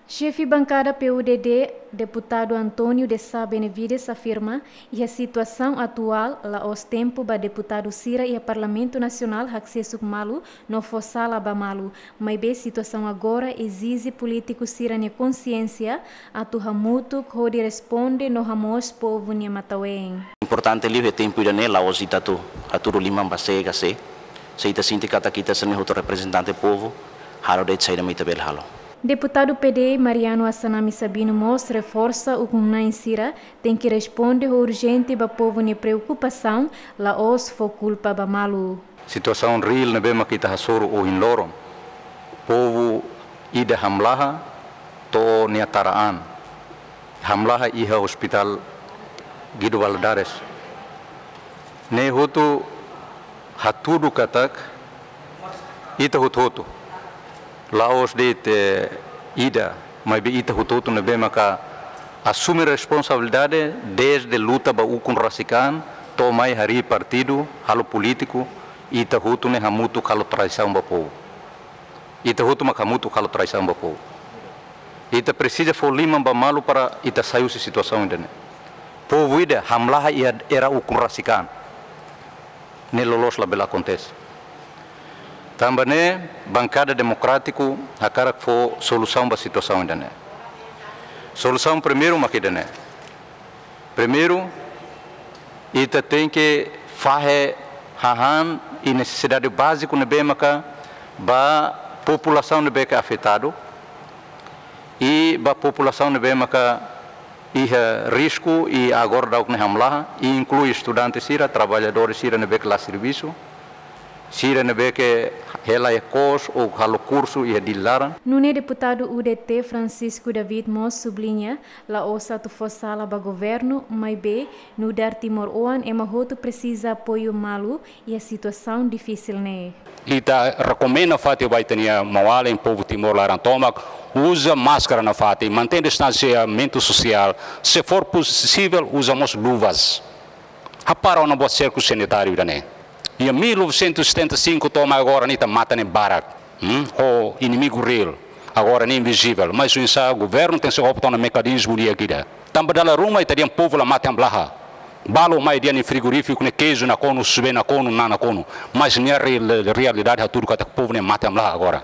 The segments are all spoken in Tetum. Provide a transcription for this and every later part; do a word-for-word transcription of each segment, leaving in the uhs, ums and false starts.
Xefe bankada P U D D, Deputadu António de Sá Benevides afirma, iha situasaun atuál, la'ós tempu ba deputadu sira iha Parlamentu Nasionál haksesuk malu no fó sala ba malu, maibé situasaun agora ezije polítiku sira-nia konsiénsia atu hamutuk hodi responde no hamoos povu nia matan-ween. Importante liu iha tempu ida-ne'e la'ós ita atu hatudu liman ba sé ka sé. Se ita sente katak ita hanesan hotu reprezentante povu, halo de'it saida mak ita bele halo. Deputadu P D Mariano Assanami Sabino mós reforsa ukun-na'in sira tenke responde ho urjente ba povu nia preokupasaun, la'ós fó kulpa ba malu. Situasaun reál ne'ebé mak ita hasoru ohin loron. Povu ida hamlaha to'o nia tara an. Hamlaha iha Hospital Guido Valadares. Ne'e hotu hatudu katak ita hotu-hotu. La'ós de'it ida, maibé ita hotu-hotu ne'ebé maka asume responsabilidade dezde luta ba ukun rasik an, to'o mai harii partidu, halo polítiku, ita hotu ne'e hamutuk halo traisaun ba povu. Ita hotu mak hamutuk halo traisaun ba povu. Ita presiza fó liman ba malu para ita sai husi situasaun ida-ne'e. Povu ida hamlaha iha era ukun rasik an. Ne'e loloos labele akontese. Tanba ne'e, Bankada Demokrátiku hakarak fó solusaun ba situasaun ida-ne'e. Solusaun primeiru mak ida-ne'e. Primeiru, ita tenke fahe hahán i nesesidade báziku ne'ebé maka ba populasaun ne'ebé ke afetadu i ba populasaun ne'ebé maka iha risku i agora daudaun ne'e hamlaha, i inklui estudante sira, traballadór sira ne'ebé ke la servisu, sira ne'ebé ke hela iha kos ou halo kursu iha Dili laran. Nune'e deputadu U D T Francisco David mós subliña, la'ós atu fó sala ba governu, maibé nu'udar timoroan ema hotu presiza apoiu malu iha situasaun difisil ne'e. Ita rekomenda fatin ba ita-nia maun-alin povu Timor laran tomak, uza máskara nafatin, mantein distansiamentu sosiál, se for posivel uza mós luvas. Hapara ona buat serku sanitáriu ida-ne'e. Iha mil novecentos e setenta e cinco to'o mai agora ne'e ita matan ne'e barak. Hmm? Ho inimigu reál. Agora ne'e invizivel. Mas oinsá governu tenke sei opta ona mekanizmu di'ak ida. Tanba dala ruma ita dehan povu la mate hamlaha. Balu mai dehan nia frigorífiku ne'e keiju nakonu, susu-been nakonu, na'an nakonu. Mas nia real-, realidade hatudu katak povu ne'e mate hamlaha agora.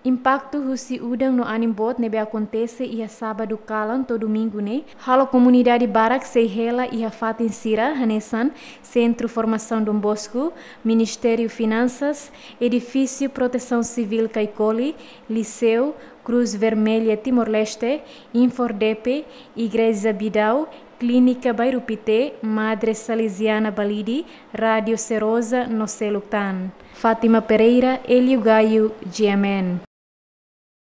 Impaktu husi udan no anin boot ne'ebé akontese iha sábadu kalan to'o domingu ne'e, halo komunidade barak sei hela iha fatin sira hanesan Sentru Formasaun Dom Bosco, Ministériu Finansas, Edifísiu Protesaun Sivíl Caicoli, Liseu, Cruz Vermelha Timor-Leste, Infordepe, Igreja Bidau, Klínika Bairru Pité, Madre Salesiana Balide, Rádio Serosa no seluk tan. Fátima Pereira, Hélio Gaio, G M N.